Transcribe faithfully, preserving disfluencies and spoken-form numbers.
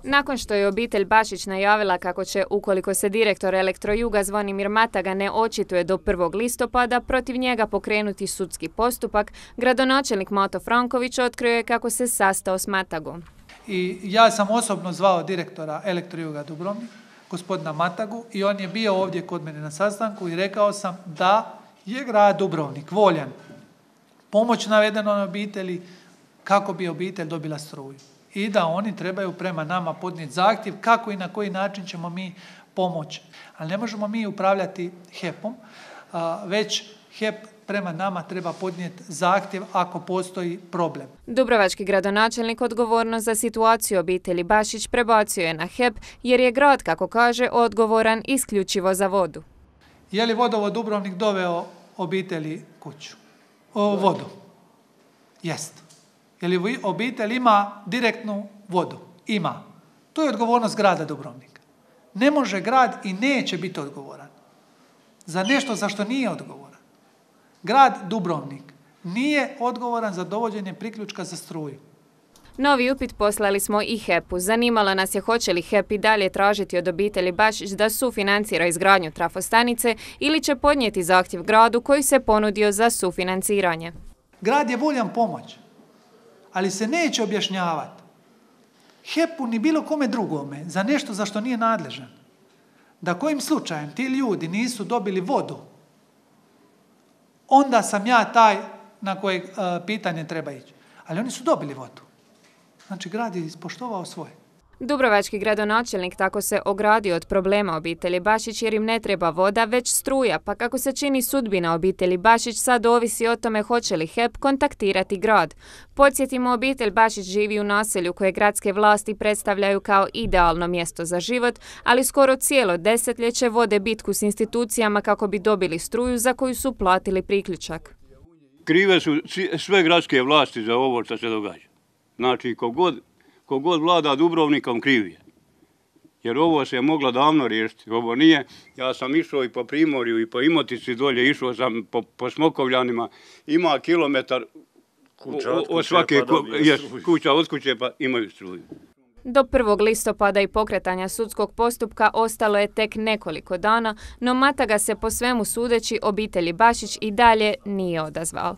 Nakon što je obitelj Bašić najavila kako će, ukoliko se direktor Elektrojuga Zvonimir Mataga ne očituje do prvog listopada, protiv njega pokrenuti sudski postupak, gradonačelnik Mato Franković otkrio je kako se sastao s Matagom. I ja sam osobno zvao direktora Elektrojuga Dubrovnik, gospodina Matagu, i on je bio ovdje kod mene na sastanku i rekao sam da je grad Dubrovnik voljan pomoć navedenoj obitelji kako bi obitelj dobila struju. I da oni trebaju prema nama podnijeti zahtjev kako i na koji način ćemo mi pomoći. Ali ne možemo mi upravljati H E P-om, već H E P prema nama treba podnijeti zahtjev ako postoji problem. Dubrovački gradonačelnik odgovornost za situaciju obitelji Bašić prebacio je na H E P jer je grad, kako kaže, odgovoran isključivo za vodu. Je li vodovod Dubrovnik doveo obitelji kuću? O, vodu. Jest. Je li obitelj ima direktnu vodu? Ima. To je odgovornost grada Dubrovnika. Ne može grad i neće biti odgovoran za nešto za što nije odgovoran. Grad Dubrovnik nije odgovoran za dovođenje priključka za struju. Novi upit poslali smo i H E P-u. Zanimalo nas je hoće li H E P i dalje tražiti od obitelji Bašić da sufinancira izgradnju trafostanice ili će podnijeti zahtjev gradu koji se ponudio za sufinanciranje. Grad je voljan pomoć, ali se neće objašnjavati H E P-u ni bilo kome drugome za nešto za što nije nadležan. Da kojim slučajem ti ljudi nisu dobili vodu, onda sam ja taj na koje uh, pitanje treba ići. Ali oni su dobili vodu. Znači, grad je ispoštovao svoje. Dubrovački gradonačelnik tako se ogradio od problema obitelji Bašić jer im ne treba voda, već struja, pa kako se čini sudbina obitelji Bašić sad ovisi o tome hoće li H E P kontaktirati grad. Podsjetimo, obitelj Bašić živi u naselju koje gradske vlasti predstavljaju kao idealno mjesto za život, ali skoro cijelo desetljeće vode bitku s institucijama kako bi dobili struju za koju su platili priključak. Krive su sve gradske vlasti za ovo što se događa. Znači, kogod Kogod vlada Dubrovnikom kriv je. Jer ovo se je moglo davno riješiti. Ovo nije. Ja sam išao i po Primorju i po Imotici dolje, išao sam po, po Smokovljanima. Ima kilometar kuća od od svake pa jes, kuća od kuće pa imaju struju. Do prvog listopada i pokretanja sudskog postupka ostalo je tek nekoliko dana, no Mataga se po svemu sudeći obitelji Bašić i dalje nije odazvao.